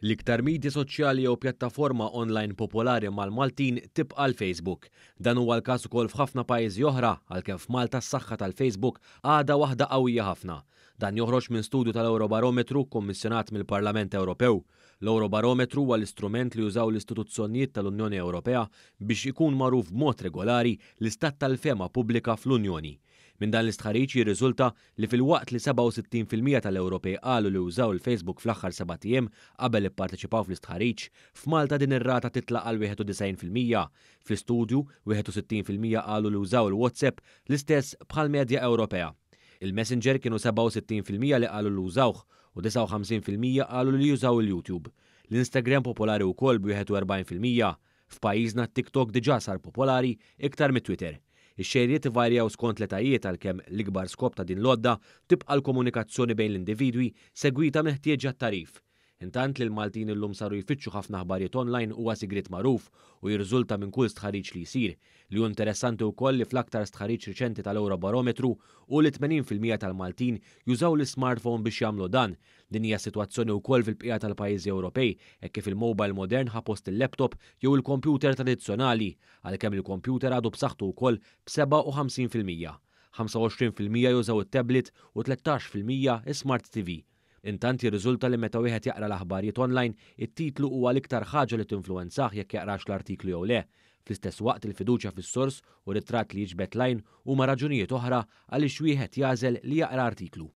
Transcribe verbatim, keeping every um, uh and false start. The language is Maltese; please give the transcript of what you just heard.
L-iktar media soċjali jew pjattaforma online popolari mal-Maltin tibqa' l-Facebook. Dan huwa l-każ ukoll f'ħafna pajjiżi oħra, għalkemm f'Malta s-saħħa tal-Facebook għadha waħda qawwija ħafna. Dan joħroġ minn studju tal-Eurobarometru kommissjonat mill-Parlament Ewropew. L-Eurobarometru huwa l-istrument li jużaw l-istituzzjonijiet tal-Unjoni Ewropea biex ikun magħruf b'mod regolari l-istat tal-fehma pubblika fl-Unjoni. Minn dan l-istħarriġ jirriżulta li filwaqt li sebgħa u sittin fil-mija tal-Ewropej qalu li użaw il-Facebook fl-aħħar sebat ijiem qabel ipparteċipaw fl-istħarriġ, f'Malta din ir-rata titla' għal wieħed u disgħin fil-mija. Fl-istudju, wieħed u sittin fil-mija qalu li użaw il-WhatsApp, l-istess bħal-medja Ewropea. Il-Messenger kienu sebgħa u sittin fil-mija li qalu li użawh u disgħa u ħamsin fil-mija qalu li jużaw il-YouTube. L-Instagram popolari wkoll b'wieħed u erbgħin fil-mija. F'pajjiżna t-TikTok diġà sar popolari iktar mit-Twitter. Ix-xejriet ivarjaw skont l-etajiet, għalkemm l-ikbar skop ta' din l-għodda tibqa' l-komunikazzjoni bejn l-individwi segwita minn ħtieġa t-tagħrif. Intant li l-Maltin illum saru jfittxu ħafna aħbarijiet online huwa sigriet magħruf u jirriżulta minn kull stħarriġ li jsir. Li hu interessanti wkoll li fl-aktar stħarriġ riċenti tal-Eurobarometru hu li tmenin fil-mija tal-Maltin jużaw l-smartphone biex jagħmlu dan. Din hija sitwazzjoni wkoll fil-bqija tal-pajjiżi Ewropej, hekk kif il-mobile modern ħa post il-laptop jew il-kompjuter tradizzjonali, għalkemm il-kompjuter għadu b'saħħtu wkoll b'sebgħa u ħamsin fil-mija. ħamsa u għoxrin fil-mija jużaw it-tablet u tlettax fil-mija smart T V. Intant jirriżulta li meta wieħed jaqra l-aħbarijiet online, it-titlu huwa l-iktar ħaġa li tinfluwenzah jekk jaqrax l-artiklu jew le. Fl-istess waqt il-fiduċja fis-sors u ritratt li jiġbed l-għajn huma raġunijiet oħra għaliex wieħed jagħżel li jaqra artiklu.